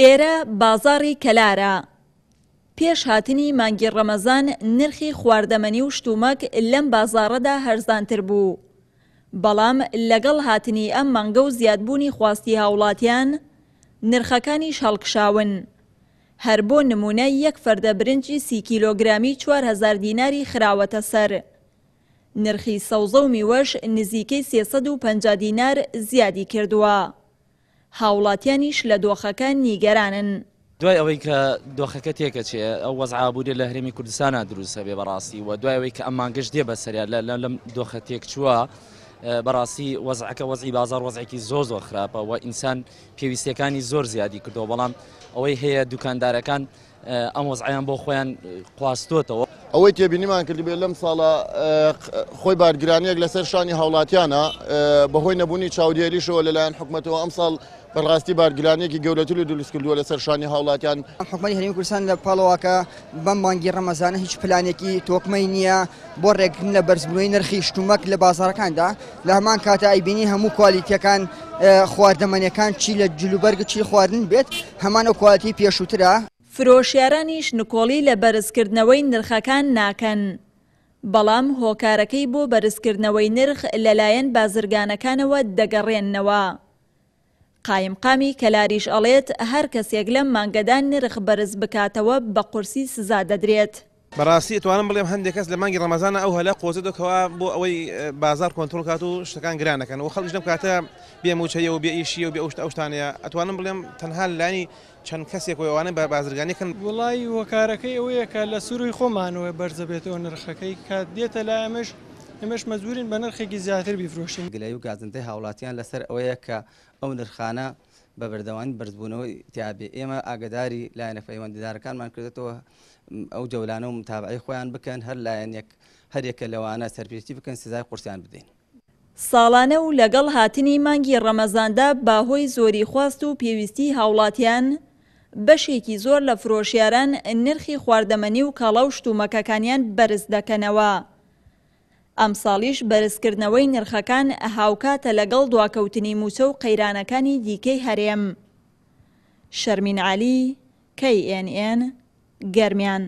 ئێرە بازاڕی کەلارە. پێش هاتنی مانگی ڕەمەزان نرخی خواردەمەنی و شتومەک لەم بازاڕەدا هەرزانتر بوو، بەڵام لەگەڵ هاتنی ئەم مانگە و زیادبوونی خواستی هاوڵاتیان، نرخەکانیش هەڵکشاون. هەر بۆ نموونە یەک فەردە برنجی سی کیلۆگرامی 4000 دیناری خراوەتە سەر. نرخی سەوزە و میوەش نزیکەی 350 دینار زیادی کردووە. هاوڵاتیانیش لە دۆخەکە نیگەرانن. دوای ئەوەی کە دۆخەکە تێکەچێ ئەو وەزعە ئابووریە لە هەرێمی کوردستانا دروست هەبێ بەڕاستی و دوای ئەوەی کە ئەم مانگەش دێ بەسەریا لە لەم دۆخە تێکچووە بەڕاستی وەزعەکە وەزعی بازار وەزعێکی زۆر زۆر خراپە و ئینسان پێویستیەکانی زۆر زیادی کردەوە بەڵام ئەوەی هەیە دوکاندارەکان ئەم وەزعیان بۆ خۆیان قواستۆتەوە. ئەوەی تێبینیمان کردبێت لەم ساڵە خۆی بارگرانیەک لەسەر شانی هاوڵاتیانە بەهۆی نەبوونی چاودێریشەوە لەلایەن حکومەتەوە ئەمساڵ بەڕاستی بارگرانیەکی گەورەتر و دروست کردووە لەسەر شانی هاوڵاتیان. حکومەتی هەرێمی کوردستان لە پاڵەوە کە بەم مانگی ڕەمەزانە هیچ پلانێکی تۆکمەی نییە بۆ ڕێگرتن لە بەرزبوونەوەی نرخی شتومەک لە بازاڕەکاندا، لە هەمان کاتا ئەیبینی هەموو کوالیتیەکان خواردەمەنیەکان چی لە جلوبەرگ چی خواردن بێت هەمان ئەو کوالیتی پێشووترە. فرۆشیارانیش نکۆڵی لە بەرزکردنەوەی نرخەکان ناکەن، بەڵام هۆکارەکەی بۆ بەرزکردنەوەی نرخ لەلایەن بازرگانەکانەوە دەگەڕێننەوە. قایمقامی کەلاریش ئەڵێت، هەر کەسێک لەم مانگەدا نرخ بەرز بکاتەوە بە قورسی سزا دەدرێت. بەڕاستی ئەتوانم بڵێم هەندێک کەس لە مانگی ڕەمەزانا ئەو هەلە قۆزێتەوە کەوا بۆ ئەوەی بازاڕ کۆنترۆڵ کات و شتەکان گران نەکەن و خەڵکیش لەم کاتە بێ مووچەیە و بێ ئیشیە و بێ ئەو شتە ئەو شتانەیە ئەتوانم بڵێم تەنها لەلایەنی چەند کەسێک و ئەوانەی بە بازرگانی کەن. وەڵایی هۆکارەکەی ئەوەیە کە لە سرووی خۆمانەوە بەرزەبێتەوە نرخەکەی کە دێتە لای ئێمەش ئێمەش مەجبوورین بە نرخێکی زیاتر بیفرۆشین. گلەیی و گازندەی هاوڵاتیان لەسەر ئەوەیە کە ئەو نرخانە بە بەردەوامی بەرزبوونەوەی تیا بێ، ئێمە ئاگەداری لایەنە پەیوەندیدارەکانمان کردۆتەوە ئەو جەولانە و متابەعەی خۆیان بکەن، هەر لایەنێک هەریەکە لەوانە سەرپێچی بکەن سزای قورسیان بدەین. ساڵانە و لەگەڵ هاتنی مانگی ڕەمەزاندا بەهۆی زۆری خواست و پێویستیی هاوڵاتیان، بەشێکی زۆر لە فرۆشیاران نرخی خواردەمەنی و کاڵا و شتومەکەکانیان بەرز دەکەنەوە. ئەمساڵیش بەرزکردنەوەی نرخەکان هاوکاتە لەگەڵ دواکەوتنی مووچە و قەیرانەکانی دیکەی هەرێم. شەرمین عەلی، KNN، گەرمیان.